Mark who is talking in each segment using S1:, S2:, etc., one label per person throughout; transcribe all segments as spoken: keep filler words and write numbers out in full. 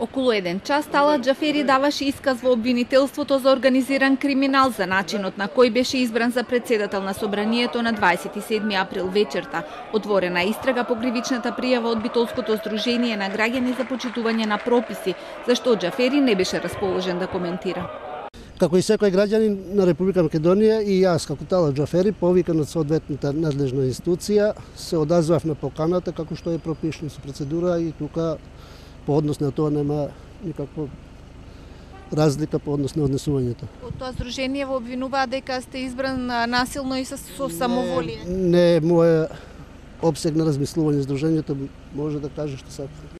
S1: Околу еден час Талат Џафери даваше исказ во обвинителството за организиран криминал за начинот на кој беше избран за председател на собранието на дваесет и седми април вечерта. Отворена истрага по кривичната пријава од Битолското здружение на граѓани за почитување на прописи, зашто Џафери не беше расположен да коментира.
S2: Како и секој граѓанин на Република Македонија и јас како Талат Џафери, повикан од соодветната надлежна институција, се одазвав на поканата како што е пропишано со процедура и тука по однос на тоа нема никаква разлика по однос на однесувањето.
S1: Од тоа здружение во обвинуваат дека сте избран насилно и со самоволие.
S2: Не, не е моја обсег на размислување, здружението може да каже што сака.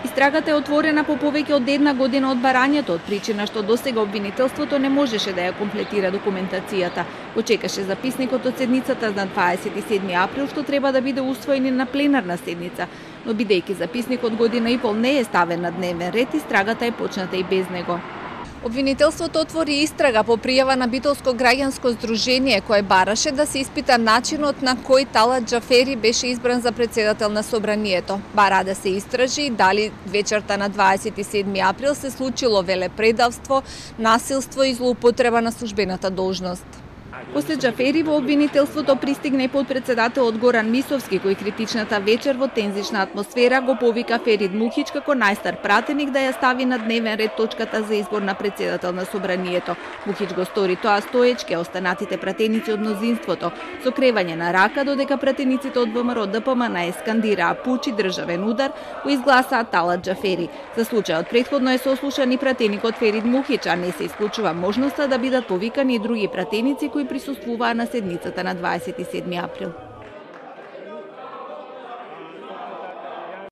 S1: Истрагата е отворена по повеќе од една година од барањето, од причина што досега обвинителството не можеше да ја комплетира документацијата. Очекаше записникот од седницата на дваесет и седми април, што треба да биде усвоен и на пленарна седница, но бидејќи записникот година и пол не е ставен на дневен ред, истрагата е почната и без него. Обвинителството отвори истрага по пријава на Битолско граѓанско здружение кое бараше да се испита начинот на кој Талат Џафери беше избран за председател на собранието. Бара да се истражи дали вечерта на дваесет и седми април се случило велепредавство, насилство и злоупотреба на службената должност. После Џафери во обвинителството пристигна и подпредседателот Горан Мисовски, кој критичната вечер во тензична атмосфера го повика Ферид Мухич како најстар пратеник да ја стави на дневен ред точката за избор на председател на собранието. Мухич го стори тоа стоечки, а останатите пратеници од мнозинството со кревање на рака, додека пратениците од ВМРО Д П М Н скандираа пучи државен удар, кој изгласаа Талат Џафери. За случајот претходно е сослушан и пратеникот Ферид Мухич, а не се исклучува можноста да бидат повикани и други пратеници кои присуствуваа на седницата на дваесет и седми април.